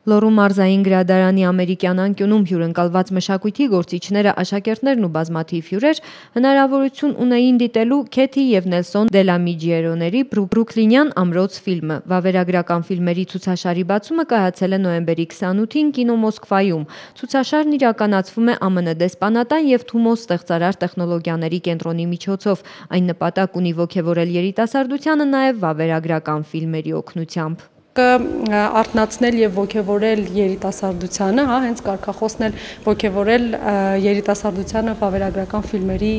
Լոռու մարզային գրադարանի ամերիկյան անկյունում հյուրընկալված մշակույթի գործիչները, աշակերտներն ու բազմաթիվ հյուրեր հնարավորություն ունեին դիտելու Քեթի և Նելսոն Դելամիջիերոների Բրուքլինյան ամրոց ֆիլմը։ Վավերագրական ֆիլմերի ցուցաշարի բացումը կայացել է նոյեմբերի 28-ին կինո Մոսկվայում։ Ցուցաշարն իրականացվում է ԱՄՆ դեսպանատան և Թումո ստեղծարար տեխնոլոգիաների կենտրոնի միջոցով։ Այն նպատակ ունի ոգևորել երիտասարդությանը նաև վավերագրական ֆիլմերի օգնությամբ։ Արթնացնել եւ ոգևորել երիտասարդությանը, հենց կարգախոսն էլ ոգևորել երիտասարդությանը վավերագրական ֆիլմերի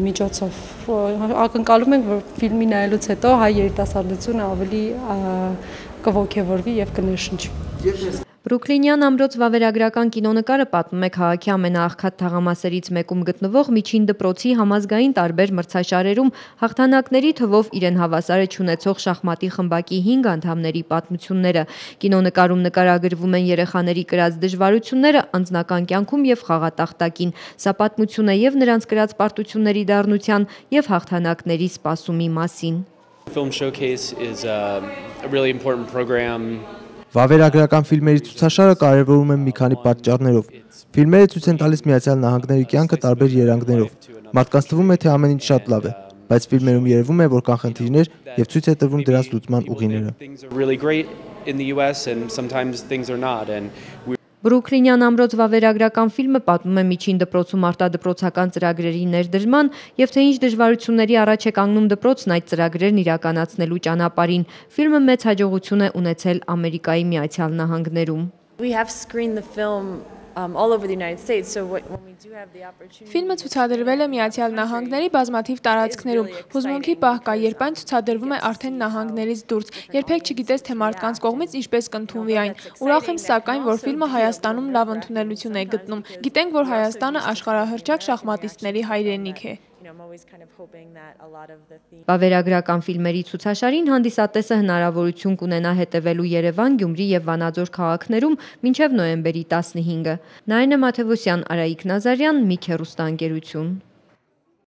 միջոցով։ Ակնկալում ենք, որ ֆիլմի նայելուց հետո հայ երիտասարդությունը ավելի կոգևորվի եւ կներշնչի։ Բրուքլինյան ամրոց վավերագրական կինոնկարը պատմում է քաղաքի ամենաաղքատ թաղամասերից մեկում գտնվող միջին դպրոցի համազգային տարբեր մրցաշարերում հաղթանակների թվով իրեն հավասարը չունեցող շախմատի խմբակի 5 անդամների պատմությունները։ Կինոնկարում նկարագրվում են երեխաների կրած դժվարությունները անձնական կյանքում եւ խաղատախտակին։ Սա պատմություն է եւ նրանց կրած պարտությունների դառնության եւ հաղթանակների սպասումի մասին։ Film Showcase is a really important program. Վավերագրական ֆիլմերի ցուցաշարը կարևորում է մի քանի պատճառներով։ Ֆիլմերը ցույց են տալիս Միացյալ Նահանգների կյանքը տարբեր երանգներով։ Մարդկանց թվում է, թե ամեն ինչ շատ լավ է, բայց ֆիլմերում երևում է, որ կան խնդիրներ եւ ցույց է տրվում դրանց լուծման ուղիները։ Բրուքլինյան ամրոց վավերագրական ֆիլմը պատմում է միջին դպրոցում արտադպրոցական ծրագրերի ներդրման եւ թե ինչ դժվարությունների առաջ է կանգնում դպրոցն այդ ծրագրերն իրականացնելու ճանապարհին։ Ֆիլմը մեծ հաջողություն է ունեցել Ամերիկայի Միացյալ Նահանգներում։ Ֆիլմը ցուցադրվել է Միացյալ Նահանգների բազմաթիվ տարածքներում։ Հուզմունքի պահ կա, երբ այն ցուցադրվում է արդեն նահանգներից դուրս։ Երբեք չգիտես, թե մարդկանց կողմից ինչպես կընդունվի այն։ Ուրախ եմ սակայն, որ ֆիլմը Հայաստանում լավ ընդունելություն է գտնում։ Գիտենք, որ Հայաստանը աշխարհահռչակ շախմատիստների հայրենիք է։ Վավերագրական ֆիլմերի ցուցաշարին հանդիսատեսը հնարավորություն կունենա հետևելու Երևան, Գյումրի եւ Վանաձոր քաղաքներում մինչեւ նոյեմբերի 15-ը։ Նայինե Մաթևոսյան, Արայիկ Նազարյան, Միք հեռուստաընկերություն։